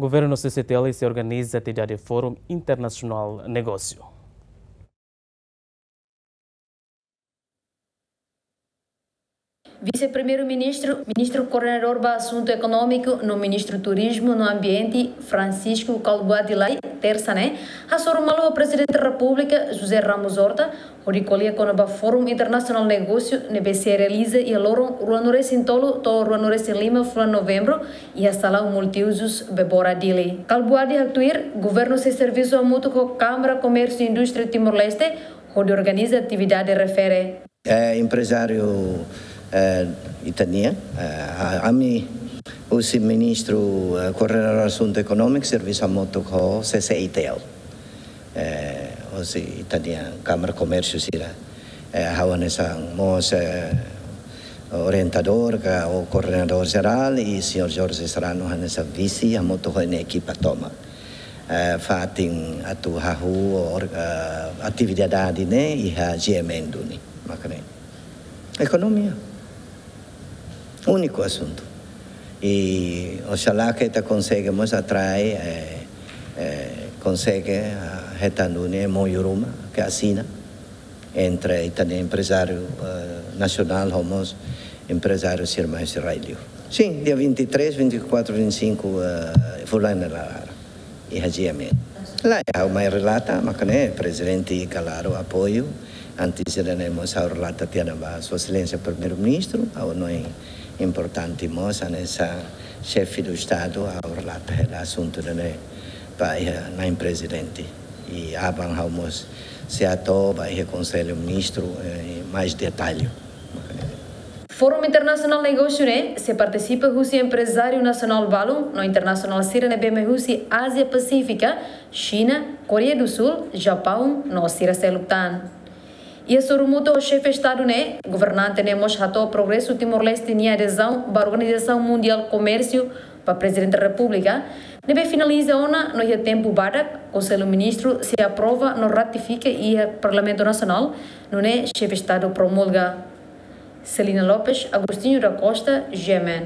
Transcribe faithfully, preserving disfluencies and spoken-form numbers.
Governu CCI-T L sei organiza atividade Fórum Internasionál Negósiu. Vise-Primeiru-Ministru, Ministru Koordenadór ba Asuntu Ekonómiku no Ministru Turizmu no Ambiente, Francisco Kalbuadi Lay, tersa ne'e, hasoru malu ho Prezidente Repúblika, José Ramos Horta, hodi ko'alia kona-ba Fórum Internasionál Negósiu ne'ebé sei realiza iha loron ruanulu-resin-tolu to'o ruanulu-resin-lima fulan Novembru, iha Salaun Multiuzus Bebora, Dili. Kalbuadi haktuir, governu sei servisu hamutuk ho Kámara Komérsiu Indústria Timor-Leste, hodi organiza atividade refere. Eh, emprezáriu, eh, ita-nian, eh, a-, ami husi Ministru, eh, Koordenadór Asuntu Ekonómiku, servisu hamutuk ho CCI-T L. Eh, husi ita-nia Kámara Komérsiu sira. Eh, ha'u hanesan mós, eh, orientadór ka ou koordenadór jerál, i señór Jorge Serrano hanesan vise, hamutuk ho nia ekipa tomak. Eh, fatin atu hahú or-, eh, atividade ne'e iha G M N duni, mak ne'e. Ekonomia. Úniku asuntu. I oxalá ke ita konsege mós atrai, eh, eh, konsege, ah, hetan duni MOU ruma ke asina entre ita-nia emprezáriu, eh, nasionál ho mós emprezáriu sira mai husi rai-liur. Sin, dia vinte e três, vinte e quatro, vinte e cinco, eh, fulan ne'e laran iha G M N. Lae, ha'u mai relata, mak ne'e Prezidente klaru apoiu. Antes ida-ne'e mós ha'u relata tiha ona ba Sua Exelénsia Primeiru-Ministru, ha'u hanoin importante mós, hanesan Xefe do Estadu, ha'u relata hela asuntu ida-ne'e ba iha Na'in Prezidente. I aban ha'u mós sei hato'o ba iha Konsellu Ministru, eh, mais detallu. Fórum Internasionál Negósiu ne'e sei partisipa husi emprezáriu nasionál balun no internasionál sira ne'ebé mai husi Ázia Pasífika, Xina, Koreia do Sul, Japaun no sira seluk tan. Iha sorumutu ho Xefe Estadu ne'e, governante ne'e mós hato'o progresu Timor-Leste nia adezaun ba Organizasaun Mundiál Komérsiu ba Prezidente Repúblika, ne'ebé finaliza ona no iha tempu badak, Konsellu Ministru sei aprova no ratifika iha Parlamentu Nasionál, nune'e Xefe Estadu promulga. Celina Lopes, Agostinho da Costa, G M N.